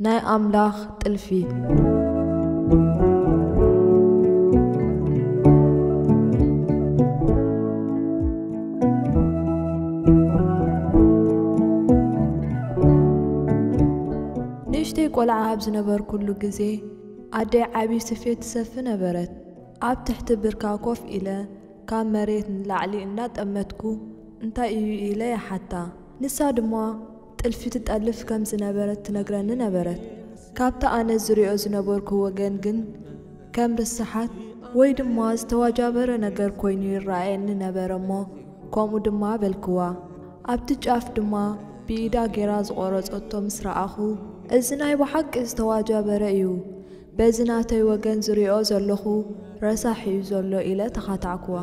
ናይ ኣምላኽ ጥልፊ። ንእሽተይ ቆልዓ ኣብ ዝነበርኩሉ ግዜ፣ ኣደይ ዓቢ ስፌት ትሰፊ ነበረት። ኣብ ትሕቲ ብርካ ኮፍ ኢለ፣ ካብ መሬት ንላዕሊ እናጠመትኩ፣ "እንታይ እዩ?" ኢለ ይሓታ። ንሳ ድማ ጥልፊ ትጠልፍ ከም ዝነበረት ትነግረኒ ነበረት። ካብቲ ኣነ ዝሪኦ ዝነበርኩ ወገን ግን፣ ከም ርስሓት ወይ ድማ ዝተዋጃበረ ነገር ኮይኑ ይረኣየኒ ነበረ እሞ፣ ከምኡ ድማ በልክዋ። ኣብቲ ጫፍ ድማ ብኢዳ ጌራ ዝቖረጸቶ ምስ ረኣኹ፣ "እዚ ናይ ብሓቂ ዝተዋጃበረ እዩ። በዚ ናተይ ወገን ዝሪኦ ዘለኹ ረሳሕ እዩ ዘሎ" ኢለ ተኻታዕክዋ።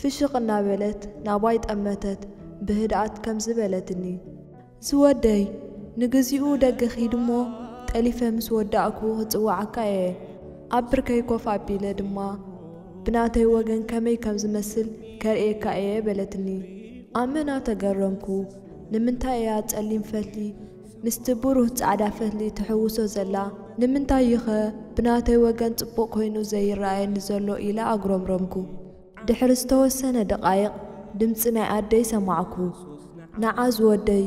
ፍሽኽ እናበለት ናባይ ጠመተት፣ ብህድኣት ከምዚ በለትኒ፣ "ዝወደይ፣ ንግዚኡ ደገ ኪድ እሞ፣ ጠሊፈ ምስ ወዳእኩ ክጽውዓካ እየ። ኣብ ብርከይ ኮፍ ኣቢለ ድማ ብናተይ ወገን ከመይ ከም ዝመስል ከርእየካ እየ" በለትኒ። ኣመና ተገረምኩ። ንምንታይ እያ ጸሊም ፈትሊ ምስቲ ብሩህ ጻዕዳ ፈትሊ ትሕውሶ ዘላ? ንምንታይ'ኸ ብናተይ ወገን ጽቡቕ ኮይኑ ዘይረኣየኒ ዘሎ? ኢለ ኣጉረምረምኩ። ድሕሪ ዝተወሰነ ደቓይቕ ድምጺ ናይ ኣደይ ሰማዕኩ። "ንዓ ዝወደይ፣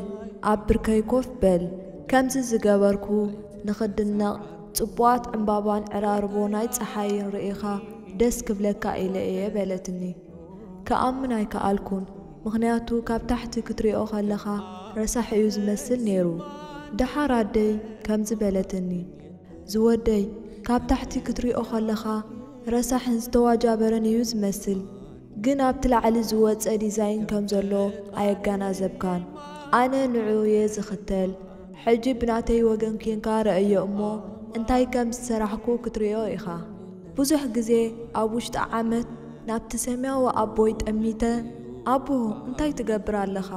ኣብ ብርከይ ኮፍ በል። ከምዚ ዝገበርኩ ንኽድነቕ፣ ጽቡቓት ዕምባባን ዕራርቦ ናይ ጸሓይን ርኢኻ ደስ ክብለካ ኢለ እየ" በለትኒ። ክኣምን ኣይከኣልኩን፣ ምኽንያቱ ካብ ታሕቲ ክትሪኦ ከለኻ ረሳሕ እዩ ዝመስል ነይሩ። ደሓር ኣደይ ከምዚ በለትኒ፣ "ዝወደይ፣ ካብ ታሕቲ ክትሪኦ ከለኻ ረሳሕን ዝተዋጃበረን እዩ ዝመስል፣ ግን ኣብቲ ላዕሊ ዝወጸ ዲዛይን ከም ዘሎ ኣየጋናዘብካን። ኣነ ንዕኡ እየ ዝኽተል። ሕጂ ብናተይ ወገን ኬንካ ረእዮ እሞ፣ እንታይ ከም ዝሰራሕኩ ክትሪኦ ኢኻ። ብዙሕ ግዜ ኣብ ውሽጢ ዓመት ናብቲ ሰማያዊ ኣቦይ ጠሚተ፣ 'ኣቦ፣ እንታይ ትገብር ኣለኻ?'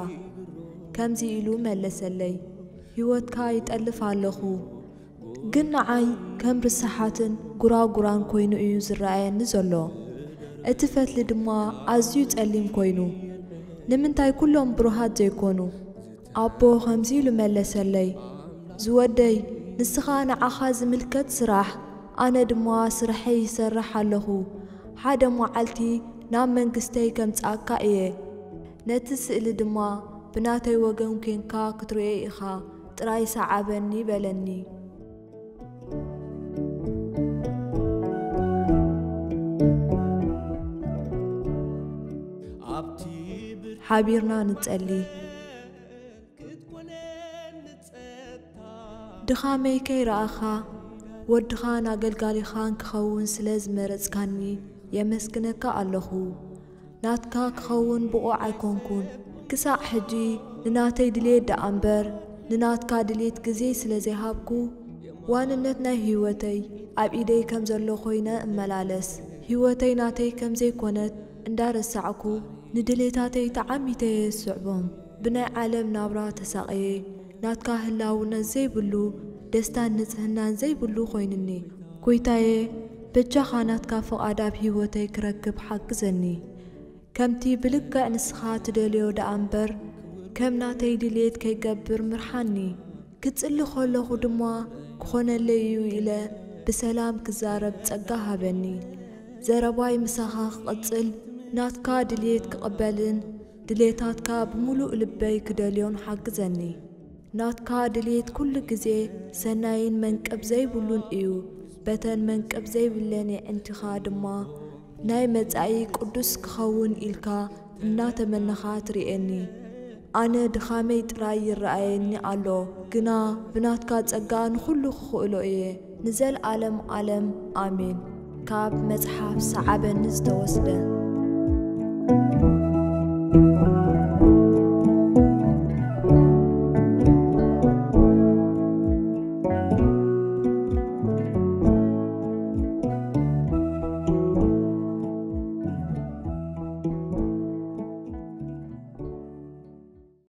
ከምዚ ኢሉ መለሰለይ፣ "ህይወትካ ይጠልፍ ኣለኹ፣ ግን ንዓይ ከም ርስሓትን ጉራጉራን ኮይኑ እዩ ዝረኣየኒ ዘሎ። እቲ ፈትሊ ድማ ኣዝዩ ጸሊም ኮይኑ። ንምንታይ ኩሎም ብሩሃት ዘይኮኑ?" ኣቦ ከምዚ ኢሉ መለሰለይ፣ "ዝወደይ፣ ንስኻ ንዓኻ ዝምልከት ስራሕ፣ ኣነ ድማ ስርሐይ ይሰርሕ ኣለኹ። ሓደ መዓልቲ ናብ መንግስተይ ከምጽኣካ እየ። ነቲ ስእሊ ድማ ብናተይ ወገን ኬንካ ክትርእዮ ኢኻ፣ ጥራይ ሰዓበኒ" በለኒ። ሓቢርና ንጸሊ። ድኻመይ ከይረኣኻ፣ ወድኻን ኣገልጋሊኻን ክኸውን ስለ ዝመረጽካኒ የመስግነካ ኣለኹ። ናትካ ክኸውን ብቑዕ ኣይኮንኩን። ክሳዕ ሕጂ ንናተይ ድልየት ደኣ እምበር፣ ንናትካ ድልየት ግዜ ስለ ዘይሃብኩ፣ ዋንነት ናይ ህይወተይ ኣብ ኢደይ ከም ዘሎ ኮይነ እመላለስ። ህይወተይ ናተይ ከም ዘይኮነት እንዳረሳዕኩ፣ ንድሌታተይ ተዓሚተ እየ ዝስዕቦም። ብናይ ዓለም ናብራ ተሳቕየ፣ ናትካ ህላውነት ዘይብሉ ደስታን ንጽህናን ዘይብሉ ኮይኑኒ። ጎይታየ፣ በጃኻ ናትካ ፍቓድ ኣብ ህይወተይ ክረክብ ሓግዘኒ። ከምቲ ብልክዕ ንስኻ ትደልዮ ደኣ እምበር፣ ከም ናተይ ድልየት ከይገብር ምርሓኒ። ክጽሊ ከለኹ ድማ ክኾነለይ እዩ ኢለ ብሰላም ክዛረብ ጸጋ ሃበኒ። ዘረባይ ምሳኻ ክቕጽል፣ ናትካ ድልየት ክቕበልን ድሌታትካ ብምሉእ ልበይ ክደልዮን ሓግዘኒ። ናትካ ድልየት ኩሉ ግዜ ሰናይን መንቅብ ዘይብሉን እዩ። በተን መንቅብ ዘይብለን የዕንቲኻ ድማ ናይ መጻኢ ቅዱስ ክኸውን ኢልካ እናተመነኻ ትርእየኒ። ኣነ ድኻመይ ጥራይ ይረኣየኒ ኣሎ፣ ግና ብናትካ ጸጋ ንኹሉ ክኽእሎ እየ። ንዘለኣለም ኣለም ኣሜን። ካብ መጽሓፍ ሰዓበኒ ዝተወስደ።